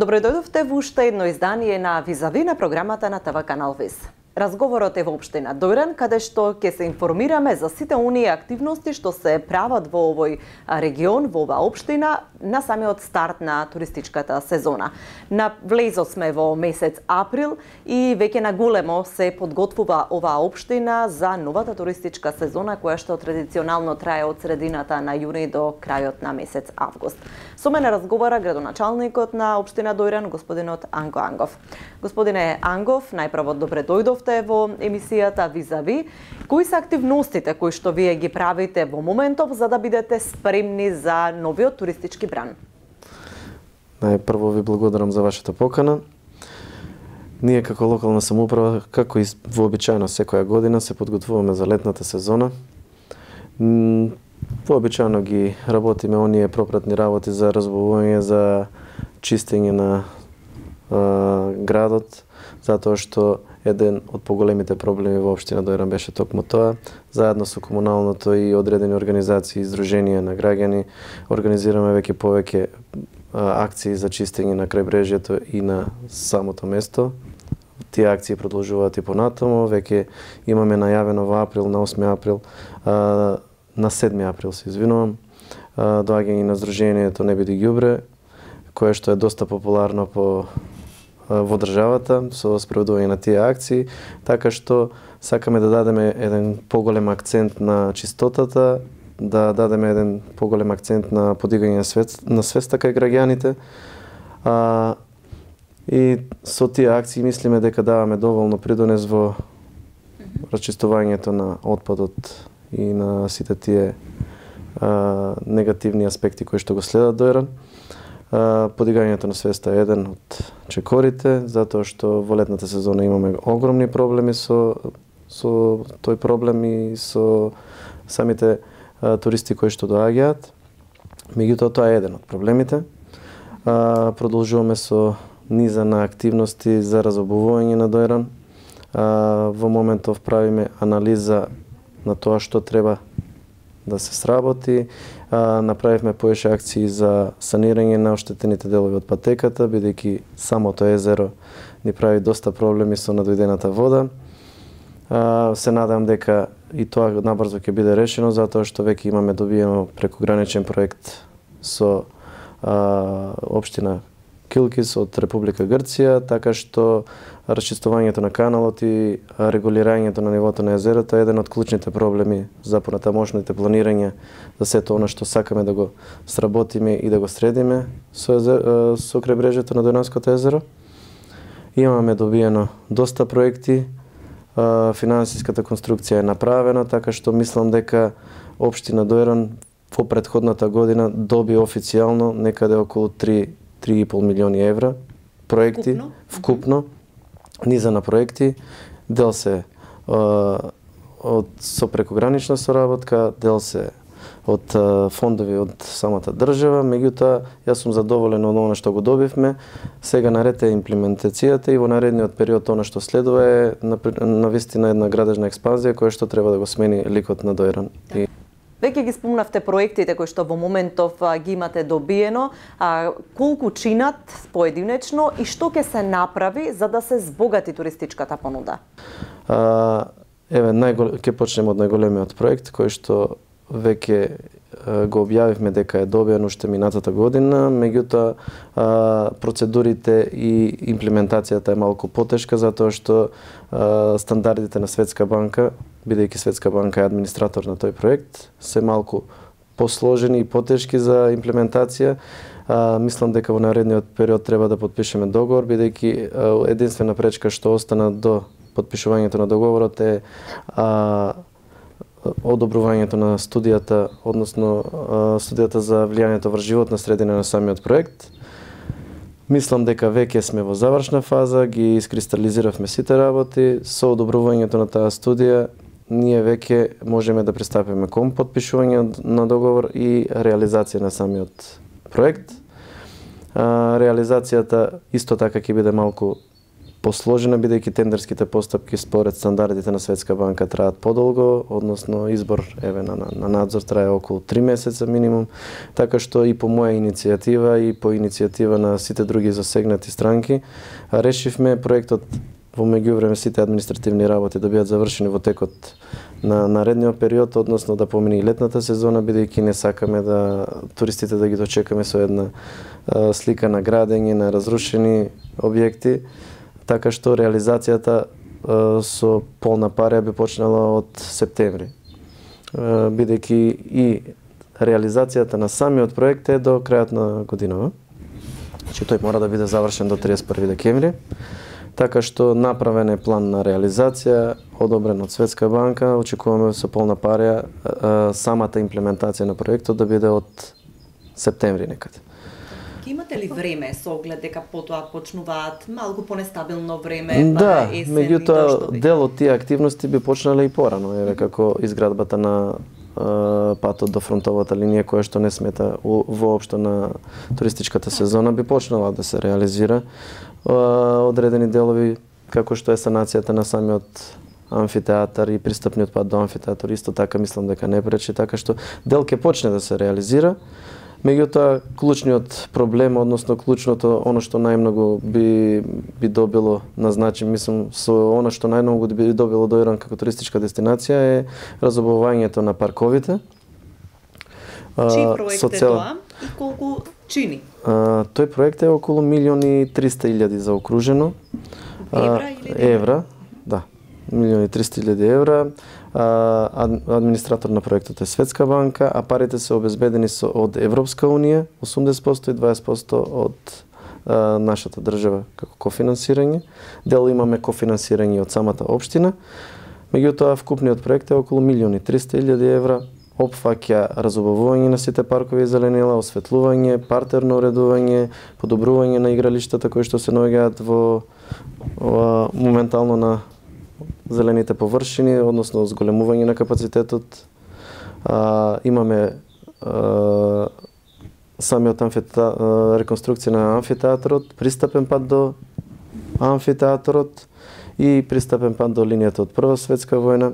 Добро дојдовте во уште едно издание на Визави на програмата на ТВ Канал Виз. Разговорот е во општина Дојран, каде што ќе се информираме за сите оние активности што се прават во овој регион, во оваа општина, на самиот старт на туристичката сезона. На влезот сме во месец април и веќе на големо се подготвува оваа општина за новата туристичка сезона, која што традиционално трае од средината на јуни до крајот на месец август. Со мене разговара градоначалникот на општина Дојран, господинот Анго Ангов. Господине Ангов, најпрво добре дојдовте во емисијата Визави. Кои се активностите кои што вие ги правите во моментов за да бидете спремни за новиот туристички бран? Најпрво ви благодарам за вашата покана. Ние како локална самоуправа, како и вообичаено секоја година, се подготвуваме за летната сезона. Вообичаено ги работиме оние пропратни работи за разбавување, за чистење на градот, затоа што еден од поголемите проблеми во општина Дојран беше токму тоа. Заедно со комуналното и одредени организации и издруженија на граѓани организираме веќе повеќе акции за чистење на крајбрежјето и на самото место. Тие акции продолжуваат и понатаму. Веќе имаме најавено во април, на 8 април, на 7 април се извинувам, доаѓање на Сдруженијето Не биди ѓубре, кое што е доста популарно во државата со спроведување на тие акции, така што сакаме да дадеме еден поголем акцент на чистотата, да дадеме еден поголем акцент на подигање на свеста кај граѓаните. И со тие акции мислиме дека даваме доволно придонес во расчистувањето на отпадот и на сите тие негативни аспекти кои што го следат Дојран. Подигањето на свеста е еден од чекорите, затоа што во летната сезона имаме огромни проблеми со тој проблем и со самите туристи кои што доаѓаат. Меѓутоа тоа е еден од проблемите. Продолжуваме со низа на активности за разобувување на Дојран. Во моментов правиме анализа на тоа што треба да се сработи. Направивме поише акции за санирање на оштетените делови од патеката, бидејќи самото езеро ни прави доста проблеми со надојдената вода. Се надам дека и тоа набрзо ќе биде решено, затоа што веќе имаме добиено прекограничен проект со општина Килкис од Република Грција, така што расчистувањето на каналот и регулирањето на нивото на езерото е еден од клучните проблеми за понатамошните планирање за сето она што сакаме да го сработиме и да го средиме со крајбрежјето на Дојранското езеро. Имаме добиено доста проекти, финансиската конструкција е направена, така што мислам дека општина Дојран во претходната година доби официјално некаде околу 3,5 милиони евра проекти вкупно, низа на проекти, дел се со прекогранична соработка, дел се од фондови од самата држава, меѓутоа јас сум задоволен од она што го добивме. Сега наред е имплементацијата и во наредниот период она што следува е навистина една градежна експанзија која што треба да го смени ликот на Дојран. Веќе ги спомнавте проектите кои што во моментов ги имате добиено, колку чинат поединечно и што ќе се направи за да се збогати туристичката понуда? Ќе почнеме од најголемиот проект кој што веќе го објавивме дека е добиен уште минатата година, меѓутоа процедурите и имплементацијата е малку потешка затоа што стандардите на Светска банка, бидејќи Светска банка е администратор на тој проект, се малку посложени и потешки за имплементација. Мислам дека во наредниот период треба да подпишеме договор, бидејќи единствена пречка што остана до подпишувањето на договорот е одобрувањето на студијата, односно студијата за влијанието врз животна средина на самиот проект. Мислам дека веќе сме во завршна фаза, ги искристализиравме сите работи. Со одобрувањето на таа студија, ние веќе можеме да пристапиме кон подпишување на договор и реализација на самиот проект. Реализацијата исто така ќе биде малку посложена, бидејќи тендерските постапки според стандардите на Светска банка траат подолго, односно избор на надзор трае околу 3 месеца минимум, така што и по моја иницијатива и по иницијатива на сите други засегнати странки решивме проектот во меѓувреме сите административни работи да бидат завршени во текот на наредниот период, односно да помине и летната сезона, бидејќи не сакаме да туристите да ги дочекаме со една слика на градење, на разрушени објекти, така што реализацијата со полна парија би почнала од септември. Бидејќи и реализацијата на самиот проект е до крајот на годинава. Значи тој мора да биде завршен до 31 декември. Така што направен е план на реализација, одобрен од Светска банка, очекуваме со полна парија самата имплементација на проектот да биде од септември некаде. Имате ли време со оглед дека потоа почнуваат малку понестабилно време, да, есен меѓутоа дел од тие активности би почнале и порано, еве како изградбата на патот до фронтовата линија која што не смета воопшто на туристичката сезона би почнала да се реализира. Одредени делови како што е санацијата на самиот амфитеатар и пристапниот пат до амфитеатар исто така мислам дека не пречи, така што дел ќе почне да се реализира. Меѓутоа клучниот проблем, односно клучното оно што најмногу би добило на значење, мислам со оно што најмногу би добило Дојран како туристичка дестинација е разобувањето на парковите. Чиј проект е тоа и колку чини? Тој проект е околу 1.300.000 заокружено. Евра или евра, да. 1.300.000 евра. Администратор на проектот е Светска банка, а парите се обезбедени од Европска унија, 80% и 20% од нашата држава како кофинансирање. Дел имаме кофинансирање од самата општина. Меѓутоа, вкупниот проект е околу 1.300.000 евра. Опфаќа разобавување на сите паркови и зеленила, осветлување, партерно уредување, подобрување на игралиштата кои што се наоѓаат во моментално на зелените површини, односно зголемување на капацитетот. Имаме самиот реконструкција на амфитеатарот, пристапен пат до амфитеатарот и пристапен пат до линијата од Прва светска војна.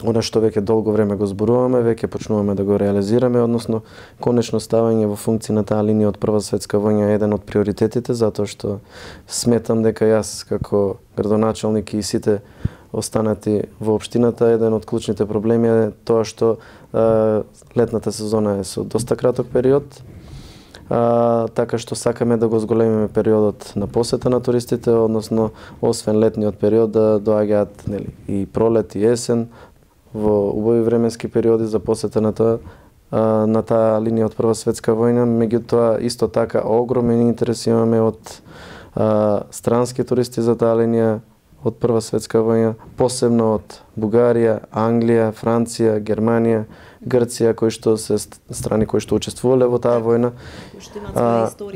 Она што веќе долго време го зборуваме, веќе почнуваме да го реализираме, односно конечно ставање во функција на таа линија од Прва светска војна е еден од приоритетите, затоа што сметам дека јас како градоначалник и сите останати во општината, еден од клучните проблеми е тоа што летната сезона е со доста краток период, така што сакаме да го зголемиме периодот на посета на туристите, односно освен летниот период да доаѓаат и пролет и есен во убави временски периоди за посета на таа линија од Прва светска војна. Меѓутоа исто така огромен интерес имаме од странски туристи за таа линија од Прва светска војна, посебно од Бугарија, Англија, Франција, Германија, Грција, кои што се страни кои што учествувале во таа војна.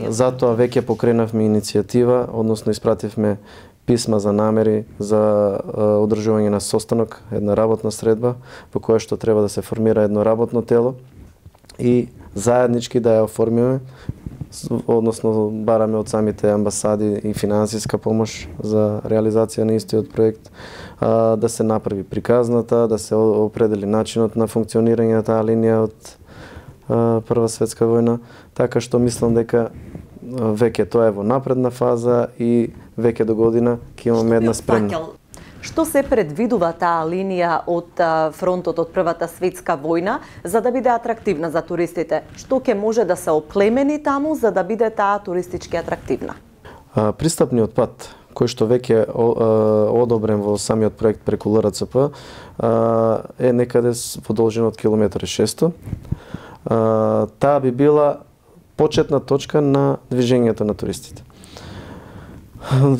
Затоа веќе покренавме иницијатива, односно испративме писма за намери за одржување на состанок, една работна средба, по која што треба да се формира едно работно тело и заеднички да ја оформиме, односно бараме од самите амбасади и финансиска помош за реализација на истиот проект, да се направи приказната, да се определи начинот на функционирање на таа линија од Прва светска војна, така што мислам дека веќе тоа е во напредна фаза и веќе до година ќе имаме една спремна. Што се предвидува таа линија од фронтот од Првата светска војна за да биде атрактивна за туристите? Што ќе може да се оплемени таму за да биде таа туристички атрактивна? Пристапниот пат кој што веќе одобрен во самиот проект преку ЛРЦП е некаде во должина од километар и 600. Таа би била почетна точка на движењето на туристите.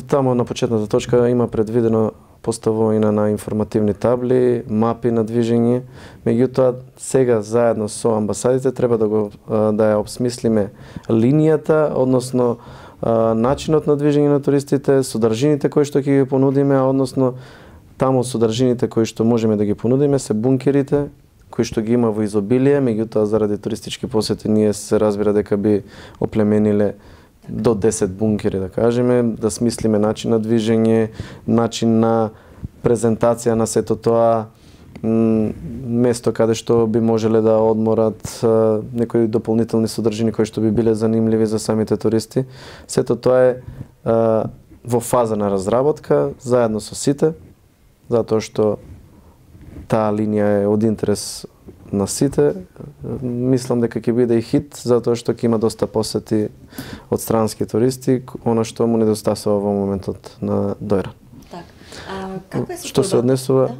Таму на почетната точка има предвидено поставување на информативни табли, мапи на движење. Меѓутоа, сега заедно со амбасадите треба да ја обсмислиме линијата, односно начинот на движење на туристите, содржините кои што ќе ги понудиме, односно таму содржините кои што можеме да ги понудиме се бункерите, кои што ги има во изобилие, меѓутоа заради туристички посети ние се разбира дека би оплемениле до 10 бункери, да кажеме, да смислиме начин на движење, начин на презентација на сето тоа, место каде што би можеле да одморат, некои дополнителни содржини кои што би биле занимливи за самите туристи. Сето тоа е во фаза на разработка, заедно со сите, затоа што таа линија е од интерес на сите. Мислам дека ќе биде и хит, затоа што ќе има доста посети од странски туристи, она што му недостасува во моментот на Дојран. Така. Што се однесува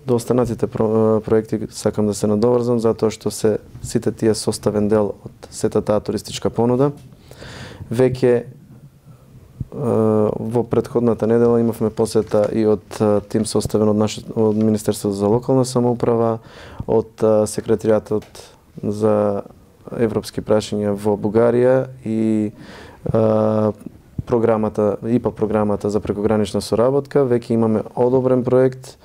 до останатите проекти, сакам да се надоврзам, затоа што сите тие составен дел од сета таа туристичка понуда. Веќе во претходната недела имавме посета и од тим составен од Министерството за локална самоуправа, од секретаријатот за европски прашања во Бугарија и ИПА програмата за прекогранична соработка. Веќе имаме одобрен проект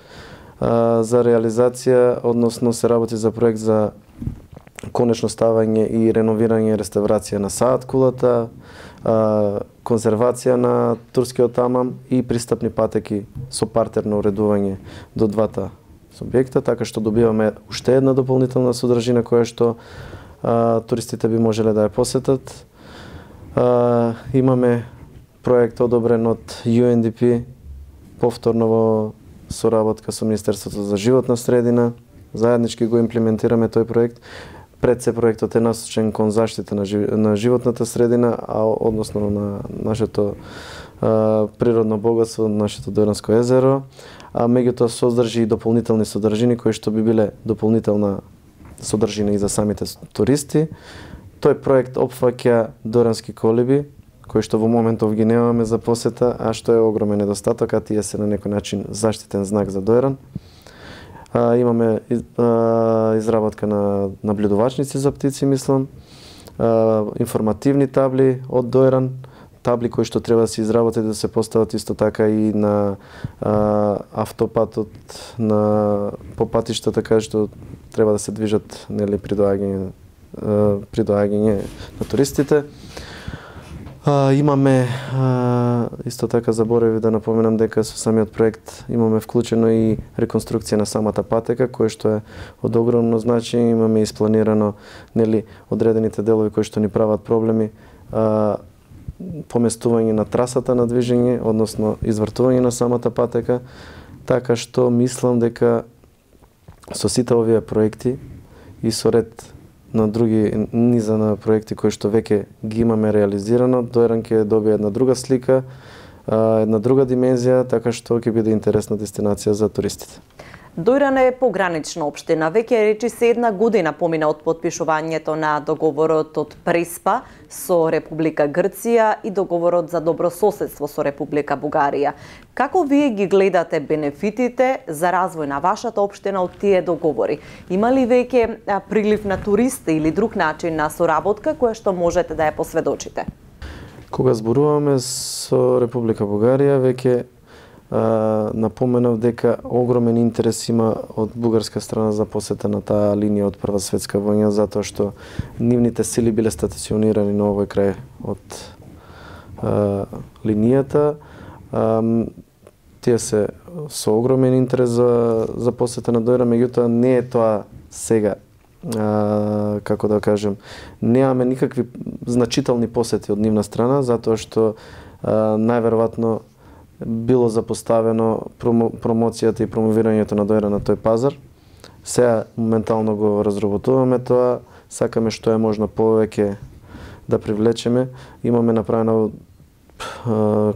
за реализација, односно се работи за проект за конечно ставање и реновирање и реставрација на Саат кулата, конзервација на турскиот амам и пристапни патеки со партерно уредување до двата субјекта, така што добиваме уште една дополнителна содржина која што туристите би можеле да ја посетат. Имаме проект одобрен од UNDP, повторно во соработка со Министерството за животна средина. Заеднички го имплементираме тој проект. Пред се проектот е насочен кон заштита на животната средина, односно на нашето природно богатство, нашето Дојранско езеро, а меѓутоа содржи и дополнителни содржини кои што би биле дополнителна содржина и за самите туристи. Тој проект опфаќа дојрански колиби, кои што во моментов ги немаме за посета, а што е огромен недостаток, а тие се на некој начин заштитен знак за Дојран. Имаме изработка на наблюдувачници за птици, мислам, информативни табли од Дојран, табли кои што треба да се изработат и да се постават исто така и на автопатот, по патиштата каде што треба да се движат, нели, при доаѓање на туристите. Имаме исто така, заборев да напоменам дека со самиот проект имаме вклучено и реконструкција на самата патека, кој што е од огромно значење. Имаме испланирано, нели, одредените делови кои што ни прават проблеми, поместување на трасата на движење, односно извртување на самата патека, така што мислам дека со сите овие проекти и со ред на други низа на проекти кои што веќе ги имаме реализирано, Дојран ќе добие една друга слика, една друга димензија, така што ќе биде интересна дестинација за туристите. Дојран е погранична општина. Веќе речиси една година помина од потпишувањето на договорот од Преспа со Република Грција и договорот за добрососедство со Република Бугарија. Како вие ги гледате бенефитите за развој на вашата општина од тие договори? Има ли веќе прилив на туристи или друг начин на соработка која што можете да ја посведочите? Кога зборуваме со Република Бугарија, веќе напоменав дека огромен интерес има од бугарска страна за посета на таа линија од Прва светска војна, затоа што нивните сили биле стационирани на овој крај од линијата. Тие се со огромен интерес за посета на Дојран, меѓутоа не е тоа сега, како да кажем, немаме никакви значителни посети од нивна страна, затоа што најверојатно било запоставено промоцијата и промовирањето на Дојран на тој пазар. Сега моментално го разработуваме тоа, сакаме што е можно повеќе да привлечеме. Имаме направено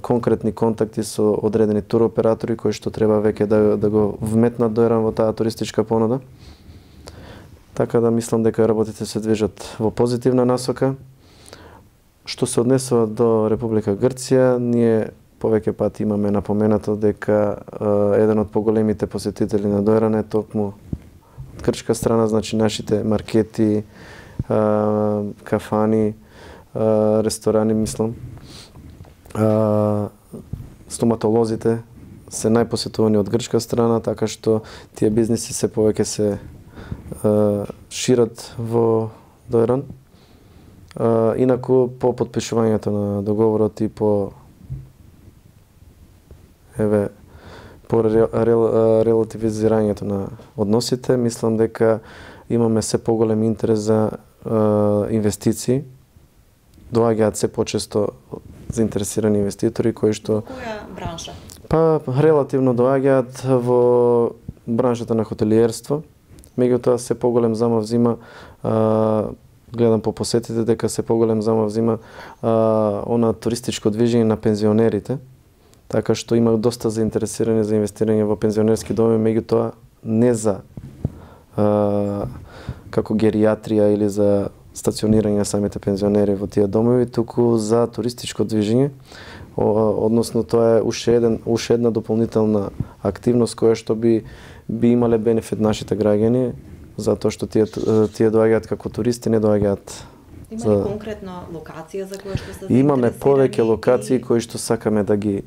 конкретни контакти со одредени туроператори кои што треба веќе да го вметнат Дојран во таа туристичка понуда. Така да мислам дека работите се движат во позитивна насока. Што се однесува до Република Грција, ние повеќе пати имаме напоменато дека еден од поголемите посетители на Дојран е токму од грчка страна, значи нашите маркети, кафани, ресторани, мислам. Стоматолозите се најпосетувани од грчка страна, така што тие бизниси се повеќе се шират во Дојран. Инаку по потпишувањето на договорот и по релативизирањето на односите, мислам дека имаме се поголем интерес за инвестиции. Доаѓаат се почесто заинтересирани инвеститори кои што... Која бранша? Па релативно доаѓаат во браншата на хотелиерство. Меѓутоа се поголем замав взима, гледам по посетите дека се поголем замав взима она туристичко движење на пензионерите. Така што има доста заинтересирани за инвестирање во пензионерски доми, меѓутоа не за како гериатрија или за стационирање на самите пензионери во тие домови, туку за туристичко движење. Односно тоа е уште една дополнителна активност која што би имале бенефит нашите граѓани, затоа што тие доаѓаат како туристи, не доаѓаат. Има ли конкретна локација за која што се имаме повеќе локации кои што сакаме да ги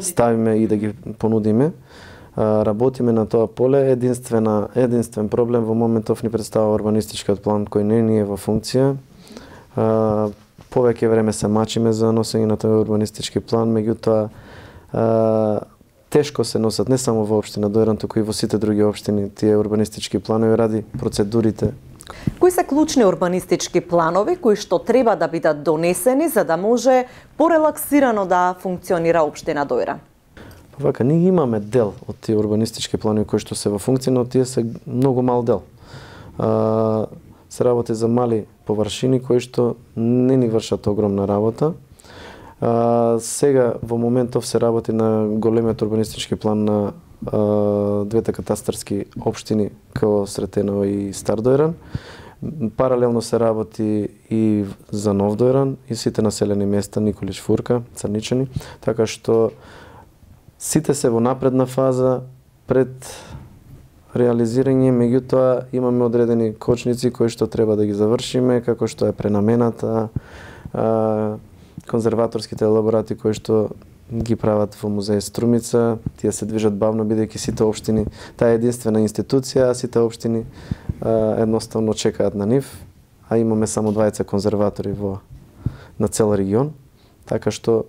ставиме и да ги понудиме. Работиме на тоа поле. Единствен проблем во моментов ни представува урбанистичкиот план кој не е во функција. Повеќе време се мачиме за носење на тој урбанистички план, меѓутоа тешко се носат не само во општина Дојран, туку и во сите други општини тие урбанистички планови ради процедурите. Кои се клучни урбанистички планови кои што треба да бидат донесени за да може порелаксирано да функционира општина Дојран? Вака, ние имаме дел од тие урбанистички планови кои што се во функција, но тие се многу мал дел. Се работи за мали површини кои што не ни вршат огромна работа. Сега во моментов се работи на големиот урбанистички план на двете катастарски општини како Сретеново и Стар Дојран. Паралелно се работи и за Нов Дојран и сите населени места Николич Фурка, Црничани, така што сите се во напредна фаза пред реализирање, меѓутоа имаме одредени кочници кои што треба да ги завршиме, како што е пренамената, конзерваторските елаборати кои што ги прават во музеј Струмица, тие се движат бавно бидејќи сите општини, таа е единствена институција, а сите општини едноставно чекаат на нив, а имаме само 20 конзерватори на цел регион, така што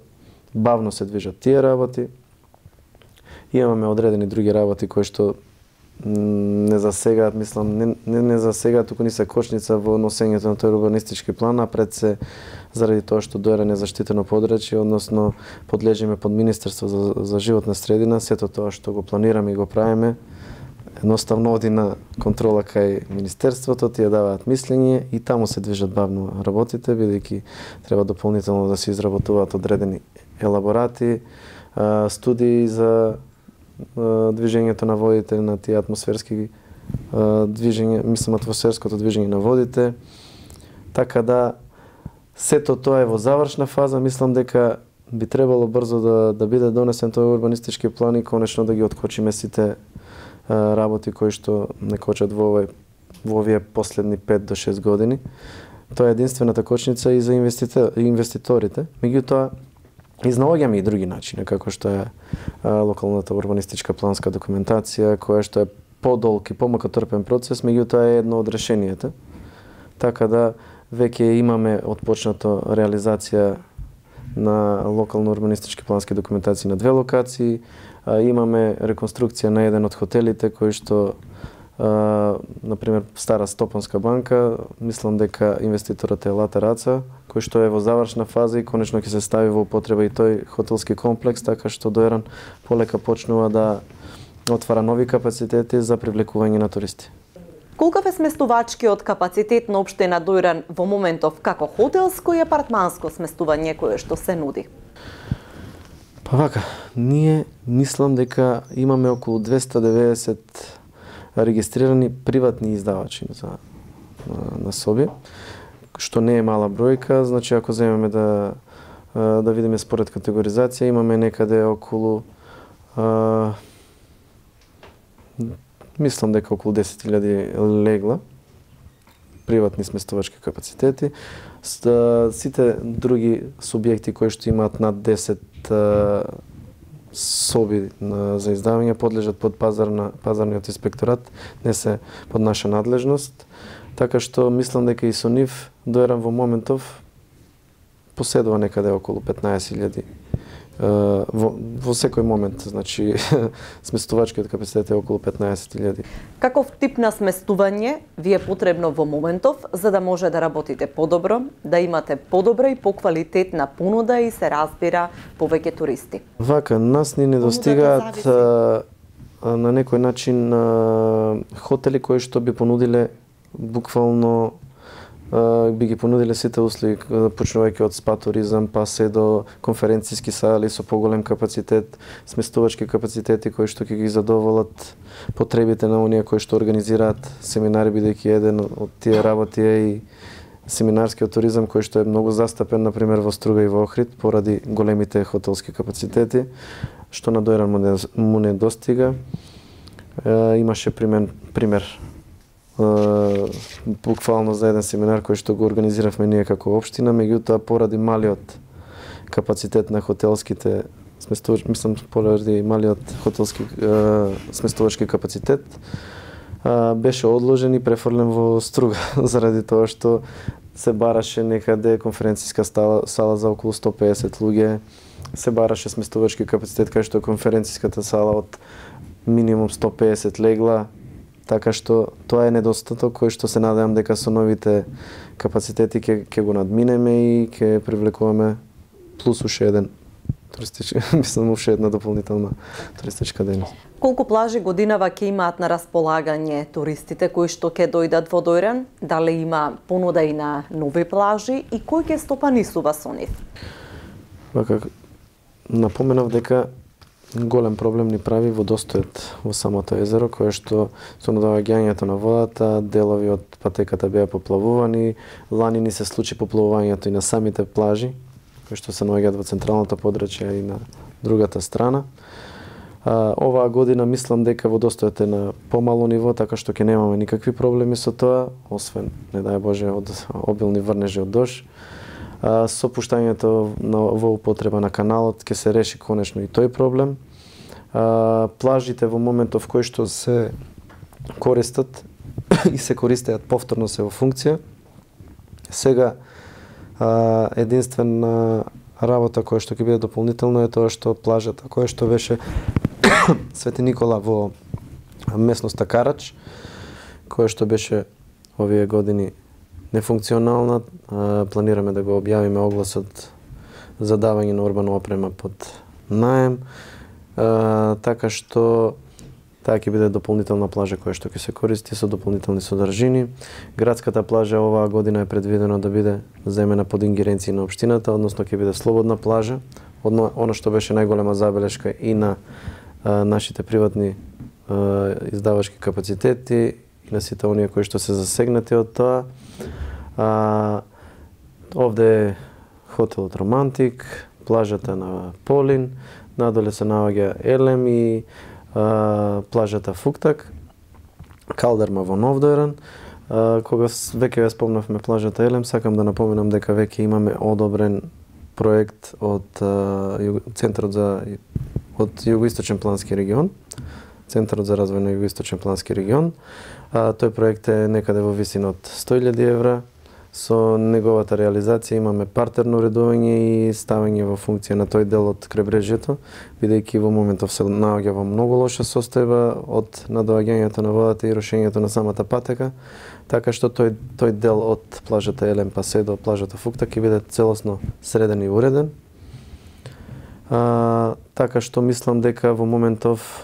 бавно се движат тие работи. Имаме одредени други работи кои што не засегаат, мислам, не засегаат, туку ни се кочница во носењето на тој урбанистички план, а пред се заради тоа што Дојран е заштитено подрачје, односно подлежиме под Министерство за животна средина, сето тоа што го планираме и го правиме, едноставно оди на контрола кај Министерството, тие даваат мислење и таму се движат бавно работите, бидејќи треба дополнително да се изработуваат одредени елаборати, студии за движењето на водите, на тие атмосферски движења, мислам атмосферското движење на водите. Така да сето тоа е во завршна фаза, мислам дека би требало брзо да биде донесен тој урбанистички план и конечно да ги откочиме сите работи кои што не кочат во овие последни 5 до 6 години. Тоа е единствената кочница и за инвеститорите. Меѓутоа изнаоѓаме и други начини, како што е локалната урбанистичка планска документација, која што е подолг и помакотрпен процес, меѓутоа е едно од решенијата. Така да веќе имаме отпочнато реализација на локално урбанистички плански документации на 2 локации, имаме реконструкција на еден од хотелите кој што например Стара Стопанска банка, мислам дека инвеститорот е Лата Раца, кој што е во завршна фаза и конечно ќе се стави во употреба и тој хотелски комплекс, така што Дојран полека почнува да отвара нови капацитети за привлекување на туристи. Колкав е сместувачкиот капацитет на општина Дојран во моментов како хотелско и апартманско сместување кое што се нуди? Па вака, ние мислам дека имаме околу 290 регистрирани приватни издавачи на соби, што не е мала бројка. Значи, ако земеме да видиме според категоризација, имаме некаде околу мислам дека околу 10.000 легла приватни сместувачки капацитети. Сите други субјекти кои што имаат над 10 соби за издавање подлежат под пазарниот инспекторат, не се под наша надлежност. Така што мислам дека и со нив Дојран во моментов поседува некаде околу 15.000 во секој момент, значи сместувачкиот капацитет е околу 15.000. Каков тип на сместување ви е потребно во моментов за да може да работите подобро, да имате подобра и поквалитетна понуда и се разбира повеќе туристи? Вака, нас ни недостигаат на некој начин хотели кои што би понудиле буквално би ги понудиле сите услуги, почнувајќи од спа туризам, па се до конференциски сали со поголем капацитет, сместувачки капацитети кои што ќе ги задоволат потребите на оние кои што организираат семинари, бидејќи еден од тие работи е и семинарскиот туризам кој што е многу застапен на пример во Струга и во Охрид поради големите хотелски капацитети, што на Дојран му не достига. Имаше пример буквално за еден семинар кој што го организиравме ние како општина, меѓутоа поради малиот капацитет на хотелските поради малиот хотелски сместувачки капацитет беше одложен и префрлен во Струга заради тоа што се бараше некаде конференциска сала за околу 150 луѓе, се бараше сместувачки капацитет кај што конференциската сала од минимум 150 легла. Така што тоа е недостаток кој што се надевам дека со новите капацитети ќе го надминеме и ќе привлекуваме плюс уште еден туристички, уште една дополнителна туристичка дејност. Колку плажи годинава ќе имаат на располагање туристите кои што ќе дојдат во Дојран? Дали има понуда и на нови плажи и кој ќе стопанисува со нив? Вака, напоменав дека голем проблем ни прави водостојот во самото езеро, кое што со надоаѓањето на водата, делови од патеката беа поплавувани, лани ни се случи поплавувањето и на самите плажи, кои што се наоѓаат во централното подрачје и на другата страна. Оваа година мислам дека водостојот е на помало ниво, така што ќе немаме никакви проблеми со тоа, освен, не дај Боже, од обилни врнежи од дожд. Со пуштањето во употреба на каналот ќе се реши конечно и тој проблем. Плажите во моментов кои што се користат и се користеат повторно се во функција. Сега единствена работа која што ќе биде дополнително е тоа што плажата која што беше Свети Никола во местноста Карач, која што беше овие години нефункционална, планираме да го објавиме огласот за давање на урбана опрема под наем, така што таа ќе биде дополнителна плажа која што ќе се користи со дополнителни содржини. Градската плажа оваа година е предвидено да биде земена под ингеренција на општината, односно ќе биде слободна плажа. Она што беше најголема забелешка и на нашите приватни издавачки капацитети и на сите оние кои што се засегнати од тоа. Овде е хотелот Романтик, плажата на Полин, надоле се наоѓа Елем и плажата Фуктак, Калдерма во Нов Дојран. Кога веќе ја спомнавме плажата Елем, сакам да напоменам дека веќе имаме одобрен проект од Центарот од Југоисточен плански регион, Центарот за развој на Југоисточен плански регион. Тој проект е некаде во висина од 100.000 евра. Со неговата реализација имаме партерно уредување и ставање во функција на тој дел од крайбрежјето, бидејќи во моментов се наоѓа во многу лоша состојба од надоаѓањето на водата и рушењето на самата патека, така што тој дел од плажата Елем па се до плажата Фуктак ќе биде целосно среден и уреден. Така што мислам дека во моментов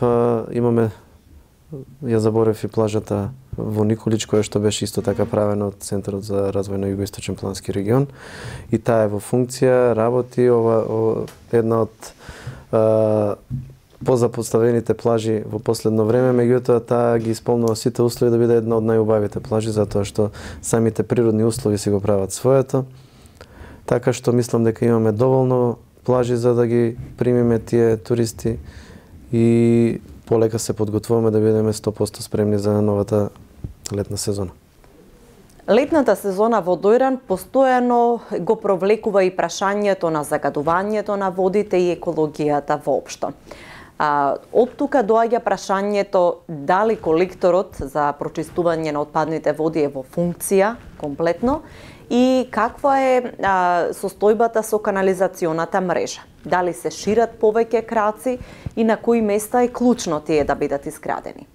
имаме, ја заборев и плажата во Николич, која што беше исто така правена од Центарот за развој на Југоисточен плански регион. И таа е во функција, работи, една од позапоставените плажи во последно време, меѓутоа таа ги исполнува сите услови да биде една од најубавите плажи, затоа што самите природни услови си го прават своето. Така што мислам дека имаме доволно плажи за да ги примиме тие туристи и полека се подготвуваме да бидеме 100% спремни за новата летна сезона. Летната сезона во Дојран постојано го провлекува и прашањето на загадувањето на водите и екологијата воопшто. Од тука доаѓа прашањето дали колекторот за прочистување на отпадните води е во функција комплетно и каква е состојбата со канализационата мрежа? Дали се шират повеќе краци и на кои места е клучно тие да бидат изградени?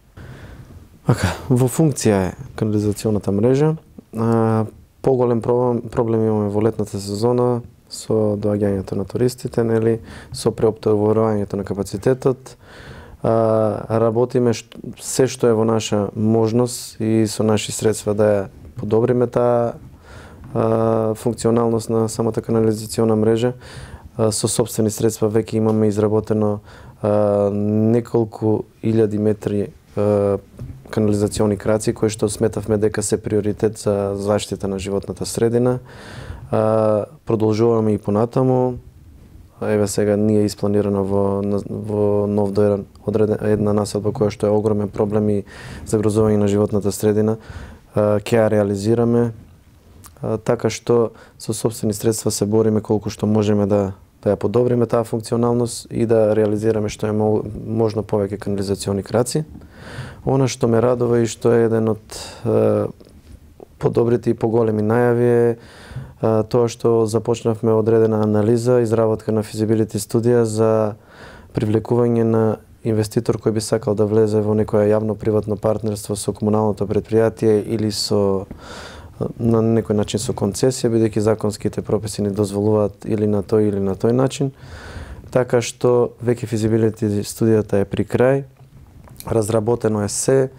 Во функција е канализационата мрежа. Поголем проблем имаме во летната сезона со доаѓањето на туристите, нели, со преоптоварувањето на капацитетот. Работиме се што е во наша можност и со наши средства да ја подобриме таа функционалност на самата канализациона мрежа. Со сопствени средства веќе имаме изработено неколку илјади метри канализациони краци кои што сметавме дека се приоритет за заштита на животната средина. Продолжуваме и понатаму. Еве сега ние испланирано во Нов Дојран една населба која што е огромен проблем и загрозување на животната средина. Ќе ја реализираме, така што со сопствени средства се бориме колку што можеме да ја подобриме таа функционалност и да реализираме што е можно повеќе канализациони краци. Она што ме радува и што е еден од подобрите и поголеми најави е тоа што започнавме одредена анализа, изработка на физибилити студија за привлекување на инвеститор кој би сакал да влезе во некоја јавно-приватно партнерство со комуналното претпријатие или на некој начин со концесија, бидејќи законските прописи ни дозволуваат или на тој начин. Така што веќе физибилити студијата е при крај, разработено е се,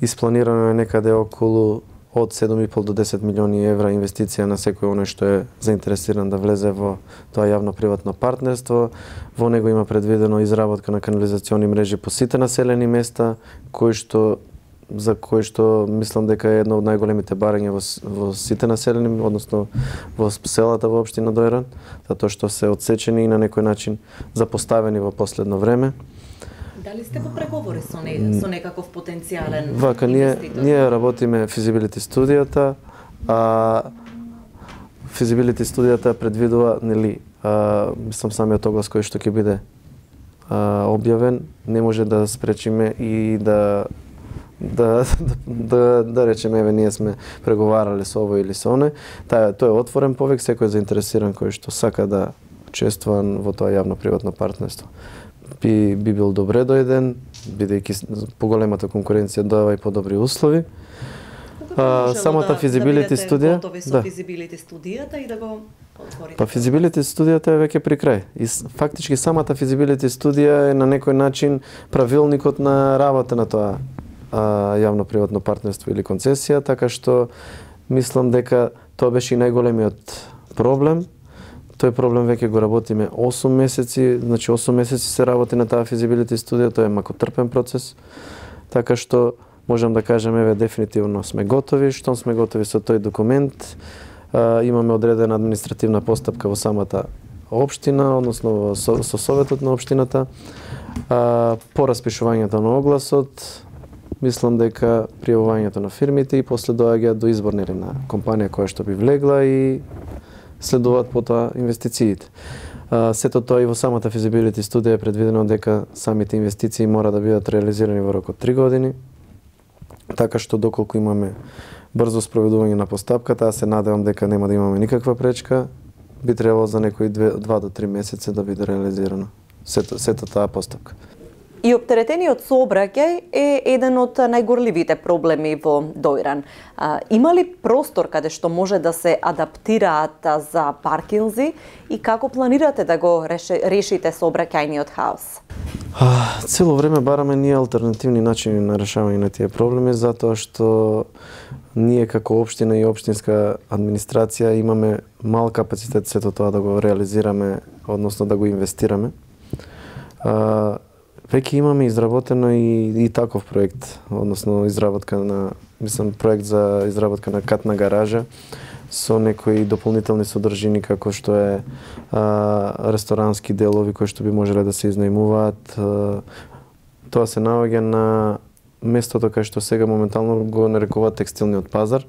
испланирано е некаде околу од 7,5 до 10 милиони евра инвестиција на секој оној што е заинтересиран да влезе во тоа јавно-приватно партнерство. Во него има предвидено изработка на канализациони мрежи по сите населени места, за кои што мислам дека е едно од најголемите барања во сите населени, односно во селата во општина Дојран, затоа што се одсечени и на некој начин запоставени во последно време. Дали сте во преговори со некаков потенцијален инвеститор? Ние работиме физибилити студијата, физибилити студијата предвидува, нели, мислам самиот оглас кој што ќе биде објавен, не може да спречиме и да речеме, еве, ние сме преговарале со ово или со оне. Тој е отворен повек, секој е заинтересиран кој што сака да учествува во тоа јавно-приватно партнерство. Би бил добре дојден, бидејќи поголемата конкуренција дава и подобри услови. Самата физибилити студија, физибилити студијата и да го отворите. Па физибилити студијата е веќе при крај. И фактички самата физибилити студија е на некој начин правилникот на работа на тоа јавно-приватно партнерство или концесија, така што мислам дека тоа беше и најголемиот проблем. Тој проблем веќе го работиме 8 месеци, значи 8 месеци се работи на таа физибилити студија, тоа е макотрпен процес, така што можам да кажем, еве, дефинитивно сме готови. Штом сме готови со тој документ, имаме одредена административна постапка во самата општина, односно со советот на општината, по распишувањето на огласот, мислам дека пријавувањето на фирмите и после доаѓа до избор на компанија која што би влегла и следуваат потоа инвестициите. Сето тоа и во самата физибилити студија е предвидено дека самите инвестиции мора да бидат реализирани во рок од 3 години, така што доколку имаме брзо спроведување на постапката, аз се надевам дека нема да имаме никаква пречка, би требало за некои 2 до 3 месеци да биде реализирано сето таа постапка. И оптеретениот сообраќај е еден од најгорливите проблеми во Дојран. Има ли простор каде што може да се адаптираат за паркинзи и како планирате да го решите сообраќајниот хаос? Цело време бараме ние алтернативни начини на решавање на тие проблеми, затоа што ние како општина и општинска администрација имаме мал капацитет сето тоа да го реализираме, односно да го инвестираме. Веќе имаме изработено и таков проект, односно изработка на, проект за изработка на катна гаража со некои дополнителни содржини како што е ресторански делови кои што би можеле да се изнајмуваат. Тоа се наоѓа на местото кај што сега моментално го нарекуваат текстилниот пазар,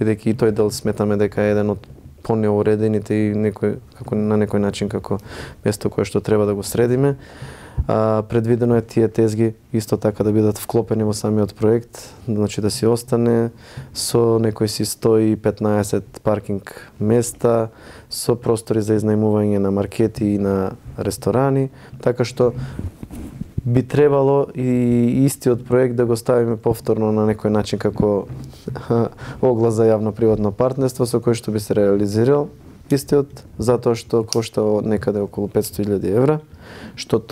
бидејќи и тој дел сметаме дека е еден од понеуредените и на некој начин како место кое што треба да го средиме. Предвидено е тие тезги исто така да бидат вклопени во самиот проект, значи да си остане со некои си 115 паркинг места, со простори за изнајмување на маркети и на ресторани, така што би требало и истиот проект да го ставиме повторно на некој начин како оглас за јавно-приватно партнерство со кој што би се реализирал истиот, затоа што кошта некаде околу 500.000 евра, што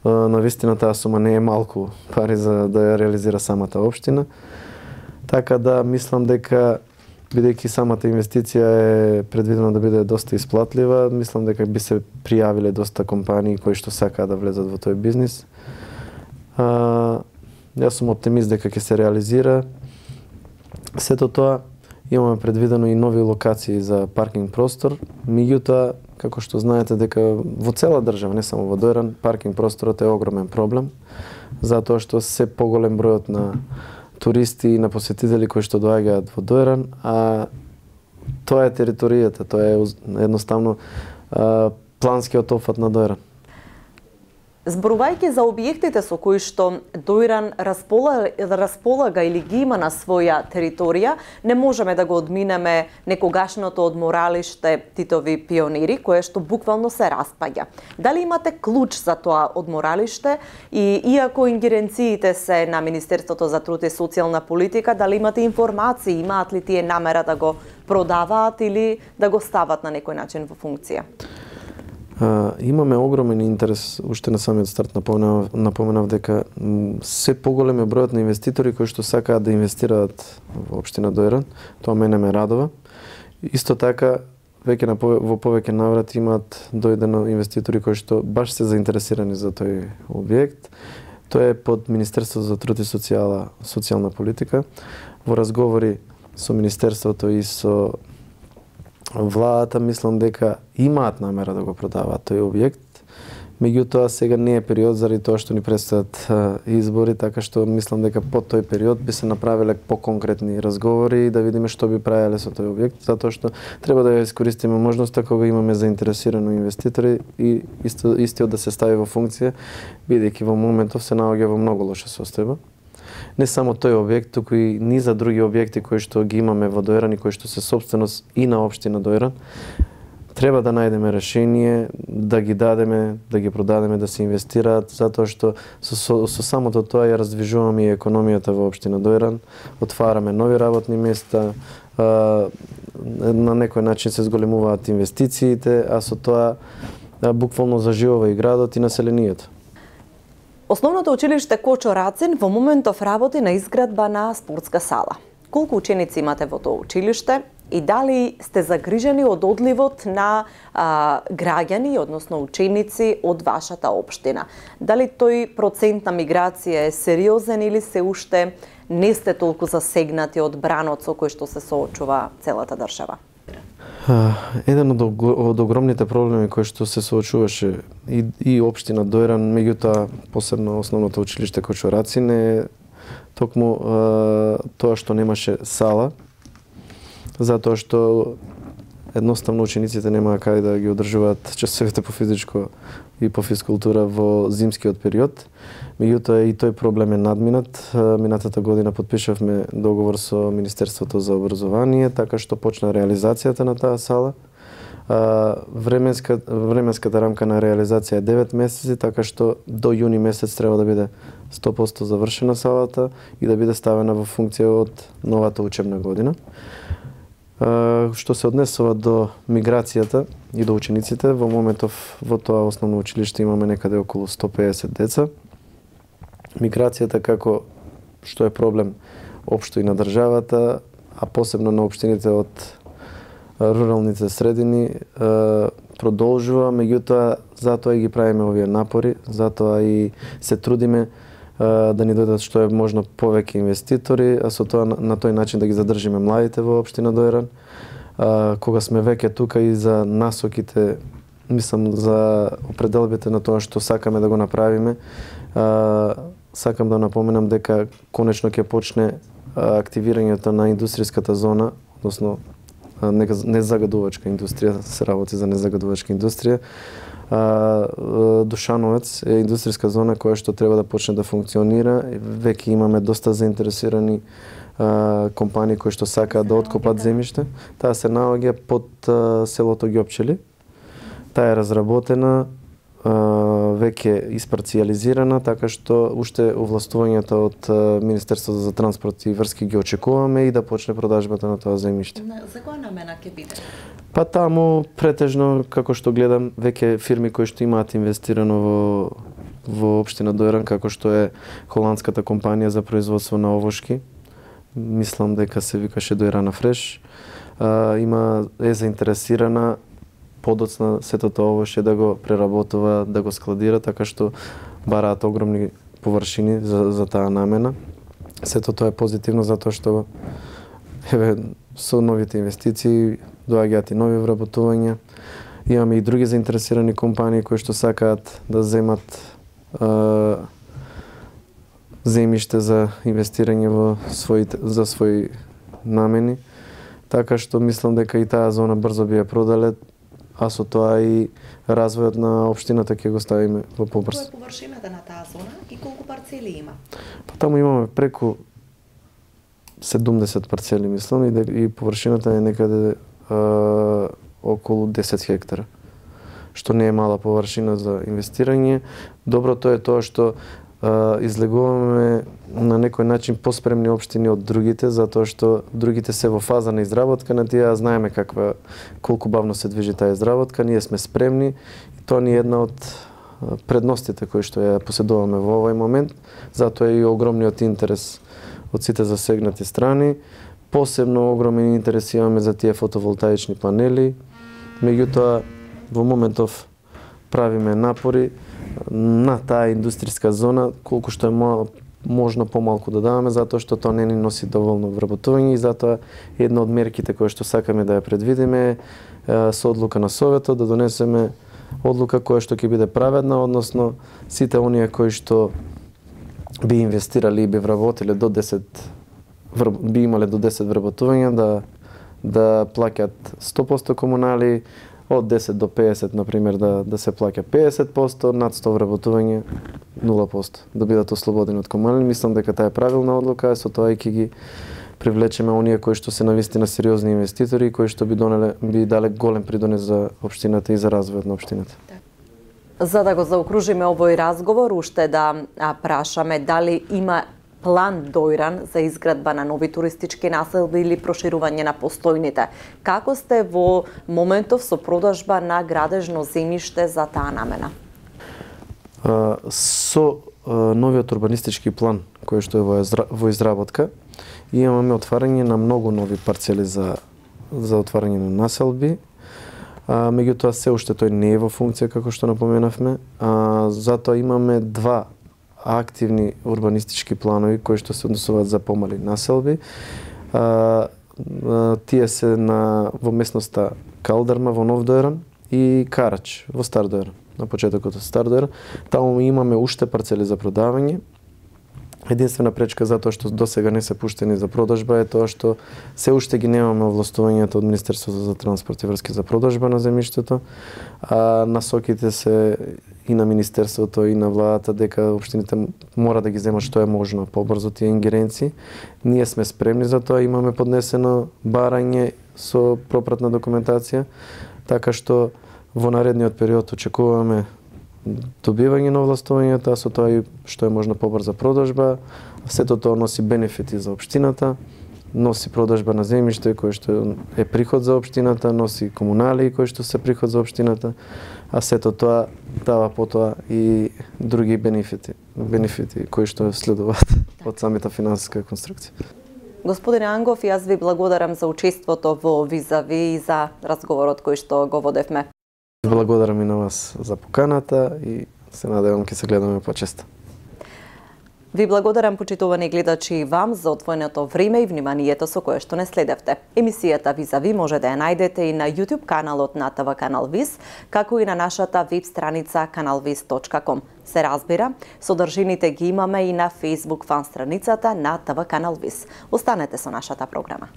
навистина таа сума не е малку пари за да ја реализира самата општина. Така да мислам дека бидејќи самата инвестиција е предвидена да биде доста исплатлива, мислам дека би се пријавиле доста компании кои што сакаат да влезат во тој бизнис. Јас сум оптимист дека ќе се реализира. Сето тоа имаме предвидено и нови локации за паркинг простор, меѓутоа како што знаете дека во цела држава, не само во Дојран, паркинг просторот е огромен проблем, затоа што се поголем бројот на туристи и на посетители кои што доаѓаат во Дојран, а тоа е територијата, тоа е едноставно планскиот опфат на Дојран. Зборувајќи за објектите со кои што Дојран располага или ги има на своја територија, не можеме да го одминеме некогашното одморалиште Титови пионири, кое што буквално се распаѓа. Дали имате клуч за тоа одморалиште и иако ингеренциите се на Министерството за труд и социјална политика, дали имате информации, имаат ли тие намера да го продаваат или да го стават на некој начин во функција? Имаме огромен интерес, уште на самиот старт напоменав дека се поголем е бројот на инвеститори кои што сакаат да инвестираат во општина Дојран. Тоа мене ме радува. Исто така, веќе во повеќе наврати имаат дојдено инвеститори кои што баш се заинтересирани за тој објект. Тоа е под Министерството за труд и социјална политика. Во разговори со Министерството и со владата мислам дека имаат намера да го продаваат тој објект, меѓутоа сега не е период заради тоа што ни предстојат избори, така што мислам дека по тој период би се направиле поконкретни разговори и да видиме што би правеле со тој објект, затоа што треба да ја искористиме можноста кога имаме заинтересирани инвеститори и истиот да се стави во функција, бидејќи во моментов се наоѓа во многу лоша состојба. Не само тој објект, туку и низа други објекти кои што ги имаме во Дојран и кои што се сопственост и на општина Дојран. Треба да најдеме решение, да ги дадеме, да ги продадеме, да се инвестираат, затоа што со самото тоа ја раздвижуваме и економијата во општина Дојран, отвараме нови работни места, на некој начин се зголемуваат инвестициите, а со тоа буквално заживува и градот и населението. Основното училиште Кочо Рацин во моментов работи на изградба на спортска сала. Колку ученици имате во тоа училиште и дали сте загрижени од одливот на граѓани, односно ученици од вашата општина? Дали тој процент на миграција е сериозен или се уште не сте толку засегнати од бранот со кој што се соочува целата држава? Еден од огромните проблеми кои што се соочуваше и општина Дојран, меѓутоа посебно основното училиште Кочо Рацин е токму тоа што немаше сала, затоа што едноставно учениците немаа кај да ги одржуваат часовите по физичко и по физкултура во зимскиот период. Меѓутоа и тој проблем е надминат. Минатата година подпишавме договор со Министерството за образование, така што почна реализацијата на таа сала. Временската рамка на реализација е 9 месеци, така што до јуни месец треба да биде 100% завршена салата и да биде ставена во функција од новата учебна година. Што се однесува до миграцијата и до учениците, во моментов во тоа основно училиште имаме некаде околу 150 деца. Миграцијата како што е проблем општо и на државата, а посебно на општините од руралните средини, продолжува, меѓутоа затоа и ги правиме овие напори, затоа и се трудиме да ни дојдат што е можно повеќе инвеститори, а со тоа на тој начин да ги задржиме младите во општина Дојран. Кога сме веќе тука и за насоките, мислам за определбите на тоа што сакаме да го направиме, сакам да напоменам дека конечно ќе почне активирањето на индустријската зона, односно незагадувачка индустрија, се работи за незагадувачка индустрија. Душановец е индустријска зона која што треба да почне да функционира. Веќе имаме доста заинтересирани компании кои што сакаат да откупат земјиште. Таа се наоѓа под селото Ѓопчели. Таа е разработена, веќе испарцијализирана, така што уште овластувањата од Министерството за транспорт и врски ги очекуваме и да почне продажбата на тоа земјиште. За која намена ќе биде? Па таму претежно, како што гледам, веќе фирми кои што имаат инвестирано во општина Дојран, како што е холандската компанија за производство на овошки, мислам дека се викаше Дојрана Фреш, е заинтересирана подоцна сето тоа овошје да го преработува, да го складира, така што бараат огромни површини за таа намена. Сето тоа е позитивно затоа што со новите инвестиции доаѓаат и нови вработувања. Имаме и други заинтересирани компании кои што сакаат да земат земјиште за инвестирање за своји намени. Така што мислам дека и таа зона брзо би ја продале, а со тоа и развојот на општината ќе го ставиме во побрз. Која е површината на таа зона и колку парцели има? Па таму имаме преку 70 парцели, мислам, и површината е некаде околу 10 хектара, што не е мала површина за инвестирање. Доброто е тоа што излегуваме на некој начин поспремни општини од другите, затоа што другите се во фаза на изработка на тие, знаеме колку бавно се движи таа изработка, ние сме спремни. Тоа ни е една од предностите кои што ја поседуваме во овој момент, затоа е и огромниот интерес од сите засегнати страни. Посебно огромен интерес имаме за тие фотоволтаични панели. Меѓутоа, во моментов правиме напори на таа индустријска зона, колку што е можно помалку да даваме, затоа што тоа не ни носи доволно вработување и затоа една од мерките кои што сакаме да ја предвидиме со одлука на Советот да донесеме одлука која што ќе биде праведна, односно сите оние кои што би инвестирали и би вработиле би имале до 10 вработувања да плаќаат 100% комунали, од 10 до 50, например, да се плаќа 50%, над 100 вработување 0%, да бидат ослободени од комунали. Мислам дека таа е правилна одлука, со тоа и ќе ги привлечеме оние кои што се навистина сериозни инвеститори и кои што би дале голем придонес за општината и за развојот на општината. За да го заокружиме овој разговор, уште да прашаме дали има план Дојран за изградба на нови туристички населби или проширување на постојните. Како сте во моментов со продажба на градежно земјиште за таа намена? Со новиот урбанистички план кој што е во изработка, имаме отварање на многу нови парцели за отварање на населби. Меѓутоа се уште тој не е во функција како што напоменавме. Затоа имаме два активни урбанистички планови кои што се однесуваат за помали населби. Тие се во местноста Калдарма во Нов Дојран и Карач во Стар Дојран, на почетокот од Стар Дојран. Таму имаме уште парцели за продавање. Единствена пречка затоа што досега не се пуштени за продажба е тоа што се уште ги немаме овластувањата од Министерството за транспорт и врски за продажба на земјиштето, а насоките се и на Министерството и на владата дека општините мора да ги земат што е можно побрзо тие ингеренции. Ние сме спремни за тоа, имаме поднесено барање со пропратна документација, така што во наредниот период очекуваме добивање на овластувањата, со тоа и што е можно побрза продажба. Сето тоа носи бенефити за општината, носи продажба на земјиште кој што е приход за општината, носи комунали кои што се приход за општината, а сето тоа дава потоа и други бенефити кои што следуваат од самата финансиска конструкција. Господине Ангов, јас ви благодарам за учеството во Визави и за разговорот кој што го водевме. Благодарам и на вас за поканата и се надевам ќе се гледаме почесто. Ви благодарам, почитувани гледачи, и вам за одвоеното време и вниманието со кое што не следевте. Емисијата Визави може да ја најдете и на YouTube каналот на ТВ Канал Виз, како и на нашата веб страница kanalviz.com. Се разбира, содржините ги имаме и на Facebook фан страницата на ТВ Канал Виз. Останете со нашата програма.